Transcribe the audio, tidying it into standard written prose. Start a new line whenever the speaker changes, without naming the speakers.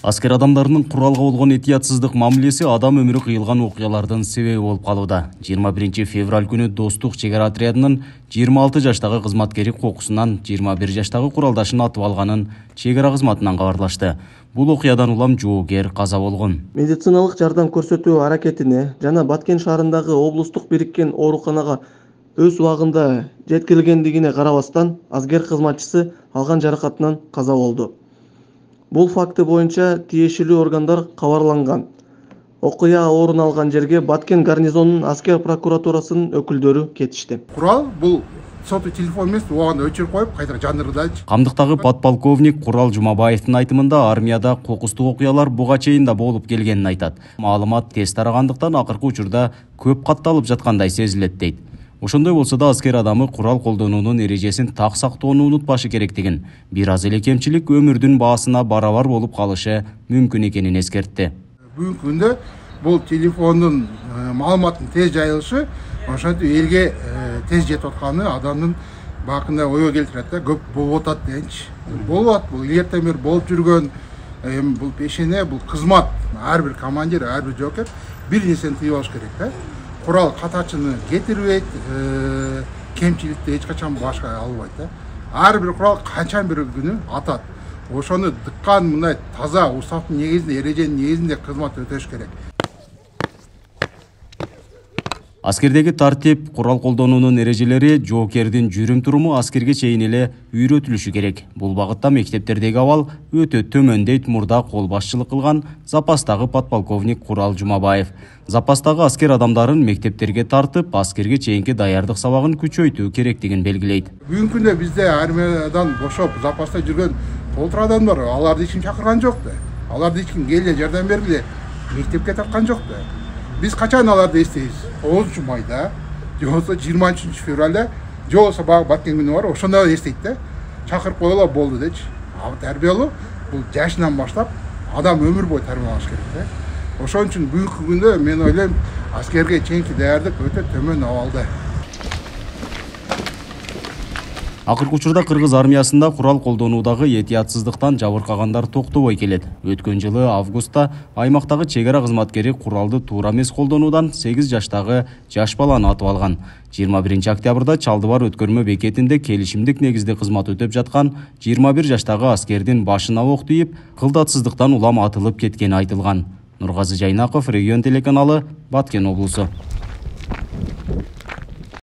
Аскер адамдарынын куралга болгон этиятсыздык мамилеси адам өмүрү кыйылган окуялардын себеби болуп калууда. 21 февраль күнү Достук чек ара отрядынын 26 жаштагы кызматкери кокусунан 21 жаштагы куралдашын атып алганын чек ара кызматынан кабарлашты. Бул окуядан улам жоокер каза болгон.
Медициналык жардам көрсөтүү аракетине жана Баткен шаарындагы облустук бириккен ооруканага өз убагында жеткирилгендигине карабастан, аскер кызматчысы алган жаракатынан каза болду. Бул факты боюнча тиешелүү органдар кабарланган. Окуя орун алган жерге Баткен гарнизонунун аскер прокуратурасынын өкүлдөрү кетишти.
Курал бул соту телефон эмес, убагында өчүрүп коюп, кайра жандырдычы.
Камдыктагы подполковник Курал Жумабаевдин айтымында армияда кокустук окуялар буга чейин да болуп келгенин айтат. Маалымат тез тарагандыктан акыркы учурда көп катталып жаткандай сезилет дейт. Ошондой болсо да аскер адамы курал колдонуунун эрежесин так сактоону унутпашы керектигин, бир аз эле кемчилик өмүрдүн баасына барабар болуп калышы мүмкүн экенин эскертти.
Бүгүнкү күндө бул телефондун маалыматтын тез жайылышы ошентип элге тез жетип атканы адамдын бакында ойго келтирет да, көп болуп атат дегенчи. Болуп атат, бул эртең бери болуп жүргөн бул пешене, бул кызмат. Ар бир командир, ар бир жоокер бир нерсени тийип алыш керек да. Курал катачыны кетирбейт, кемчиликти эч качан башка албайт да. Ар бир курал качан бир күнү атат. Ошону дыккан мындай таза устаттын негизинде, эреженин негизинде кызмат өтөш керек.
Аскердеги тартип, курал колдонуунун эрежелери, жоокердин жүрүм-туруму аскерге чейин эле үйрөтүлүшү керек. Бул багытта мектептердеги абал өтө төмөн дейт мурда кол башчылык кылган запастагы подполковник Курал Жумабаев. Запастагы аскер адамдарын мектептерге тартып, аскерге чейинки даярдык сабагын күчөйтүү керектигин белгилейт.
Бүгүнкү күндө бизде армиядан бошоп, запаста жүргөн толтур адам бар. Аларды эч ким чакырган жок да. Аларды эч ким келе жардам бергиле, мектепке тарткан жок да. Биз качан аларды эстейбиз? 9 майда, же болбосо 23 февралда, же болбосо баягы Баткен күнү бар, ошондо эстейт да. Чакырып койгула болду дечи. Тарбиялоо бул жашынан баштап адам өмүр бою тарбиялаш керек да. Ошон үчүн бүгүнкү күндө мен ойлойм, аскерге чейинки даярдык өтө төмөн абалда.
Акыркы учурда кыргыз армиясында курал колдонуудагы этиятсыздыктан жабыркагандар токтобой келет. Өткөн жылы августта аймактагы чек ара кызматкери куралды туура эмес колдонуудан 8 жаштагы жаш баланы атып алган. 21 октябрда Чалдыбар өткөрмө бекетинде келишимдик негизде кызмат өтөп жаткан 21 жаштагы аскердин башына ок тийип, кылдатсыздыктан улам атылып кеткени айтылган. Нургазы Жайнаков, Регион телеканалы, Баткен облусу.